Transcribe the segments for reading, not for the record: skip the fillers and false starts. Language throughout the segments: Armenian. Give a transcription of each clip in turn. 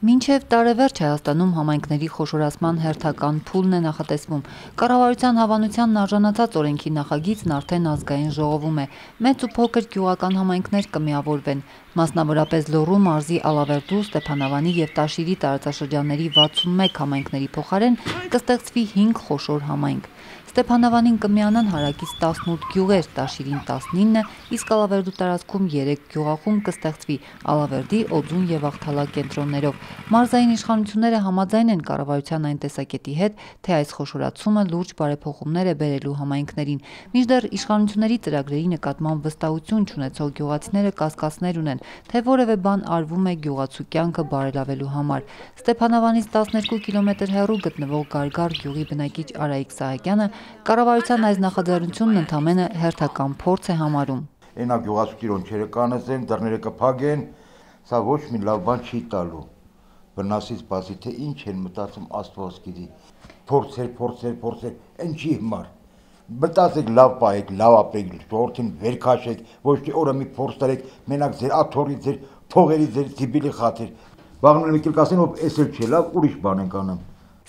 Մինչև տարեվերջ Հայաստանում համայնքների խոշորացման հերթական փուլն է նախատեսվում։ Կառավարության հավանությանն արժանացած օրենքի նախագիծն արդեն ազգային ժողովում է։ Մեծ ու փոքր գյուղական համայնքներ կմիավորվեն։ Մասնավորապես Լոռու մարզի Ալավերդու, Ստեփանավանի եւ Տաշիրի տարածաշրջանների 61 համայնքների փոխարեն կստեղծվի 5 խոշոր համայնք։ Ստեփանավանին կմիանան հարակից 18 գյուղեր, Տաշիրին 19, իսկ Ալավերդու տարածքում 3 գյուղախումբ կստեղծվի Ալավերդի, Օձուն եւ Աղթալա կենտրոններով։ Մարզային իշխանությունները համաձայն են կառավարության այն տեսակետի հետ, թե այս խոշորացումը լուրջ բարեփոխումներ է բերելու համայնքներին։ Մինչդեռ իշխանությունների ծրագրերի նկատմամբ վստահություն չունեցող գյուղացիները կասկածներ ունեն, թե որևէ բան արվում է գյուղացու կյանքը բարելավելու համար։ Ստեփանավանից 12 կիլոմետր հեռու գտնվող Գարգար գյուղի բնակիչ Արայիկ Սահակյանը կառավարության այս նախաձեռնությունն ընդամենը հերթական փորձ է համարում։ Այնա գյուղացու տիրոջերը կանեցեն, դռները կփակեն, սա ոչ մի լավ բան չի տալու։ Վնասից բացի թե ինչ են մտածում Աստված գիտի։ Փորձեր, ինչի համար։ Մտածեք լավ պահեք, լավ ապրեք, ժողովրդին վեր քաշեք, ոչ թե օրը մի փորձ տարեք, մենակ ձեր աթոռի, ձեր փողերի, ձեր տիպիլի խաթր։ Վաղն մի կասեն, ով էսել չէ լավ, ուրիշ բան ենք անում։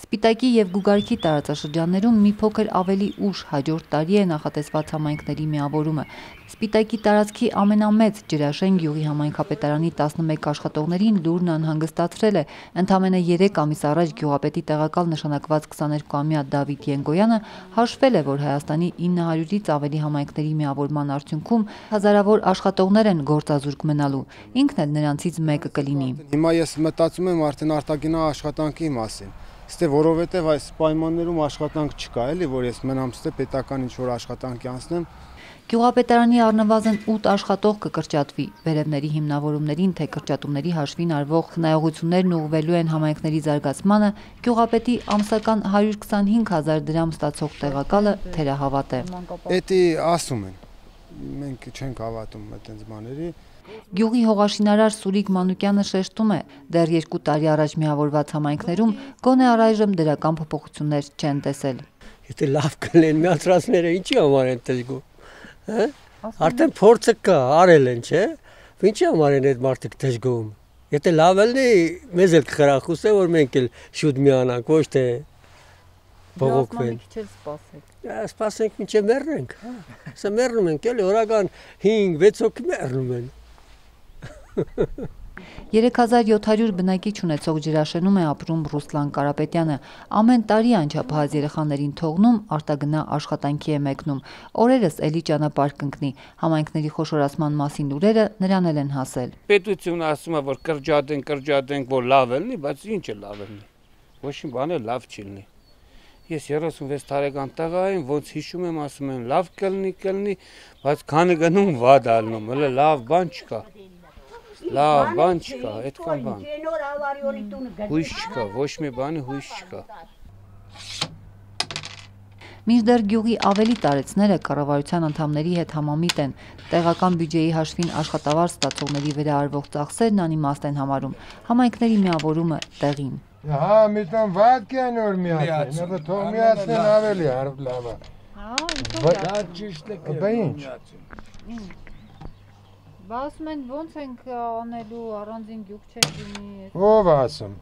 Սպիտակի եւ Գուգարքի տարածաշրջաններում մի փոքր ավելի ուշ հաջորդ տարի է նախատեսված համայնքների միավորումը։ Սպիտակի տարածքի ամենամեծ Ջրաշեն գյուղի համայնքապետարանի 11 աշխատողներին լուրն անհանգստացրել է։ Ընդամենը 3 ամիս առաջ գյուղապետի տեղակալ նշանակված 22-ամյա Դավիթ Ենգոյանը հաշվել է, որ Հայաստանի 900-ից ավելի համայնքների միավորման արդյունքում հազարավոր աշխատողներ են գործազուրկ մնալու։ Ինքն էլ նրանցից մեկը կլինի։ Հիմա ես մտածում եմ արդեն արտագնա աշխատանքի մասին։ Ստե որովհետև այս պայմաններում աշխատանք չկա, էլի, որ ես մնամ ստե պետական ինչ-որ աշխատանքի անցնեմ։ Գյուղապետարանի առնվազն 8 աշխատող կկրճատվի։ Վերևների հիմնավորումներին թե կրճատումների հաշվին արվող խնայողություններն ուղղվելու են համայնքների զարգացմանը, գյուղապետի ամսական 125,000 դրամ ստացող տեղակալը թերահավատ է։ Էդի ասում են, մենք չենք հավատում այդպես բաների։ Գյուղի հողաշինարար Սուրիկ Մանուկյանը շեշտում է, դեռ 2 տարի առաջ միավորված համայնքներում գոնե առայժմ դրական փոփոխություններ չեն տեսել։ Եթե լավ կլեն միացրածները ինչի համար են դժգոհ, հա? Արդեն փորձը կա, արել են, չէ՞։ Ինչի համար են այդ մարդիկ դժգոհում։ Եթե լավ լինի, մեզ էլ կխրախուսե, որ մենք էլ շուտ միանանք, ոչ թե բողոքվեն։ Սպասենք մինչև մեռնենք, հա։ Սա մեռնում ենք, էլի օրական 5-6 հոգի մեռնում են։ 3700 բնակիչ ունեցող Ջրաշենում է ապրում Ռուսլան Կարապետյանը։ Ամեն տարի անչափահաս երեխաներին թողնում, արտագնա աշխատանքի է մեկնում։ Օրերս էլի ճանապարհ կընկնի։ Համայնքների խոշորացման մասին լուրերը նրան էլ են հասել։ Պետությունը ասում է, որ կրճատենք, որ լավ լինի, բայց ինչ է լավ լինի։ Ոչ մի բան էլ լավ չի լինի։ Ես 36 տարեկան տղա եմ, ոնց հիշում եմ, ասում եմ լավ կլինի, բայց քանի գնում վատ ալնում, հələ լավ բան չկա։ Լավ բան չկա, այդքան բան։ Հույս չկա, ոչ մի բանի հույս չկա։ Մինչդեռ գյուղի ավելի տարեցները կառավարության անդամների հետ համամիտ են։ Տեղական բյուջեի հաշվին աշխատավարձ ստացողների վրա արվող ծախսերն անիմաստ են համարում։ Համայնքների միավորումը տեղին։ Հա, միտան վատկյան որ միացնեն, ապա թող միացնեն ավելի լավ է։ Դա ճիշտ է ինչ։ Բա ասում են ոնց ենք անելու առանձին գյուղ չենք լինի։ Ով ասում։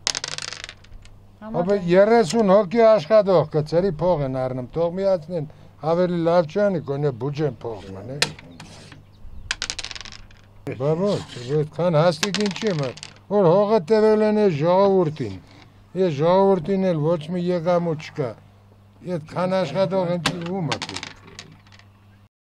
Ապա 30 հոգի աշխատող կծերի փող են առնում, թող միացնեն ավելի լավ չանի, գոնե բյուջեն փող մնա։ Բա ոչ, այդքան հաստիկ ինչի՞ մը, որ հողը տևել են ժողովրդին։ Ես ժողովրդին էլ ոչ մի եկամուտ չկա։ Այդքան աշխատող ինչի ում է։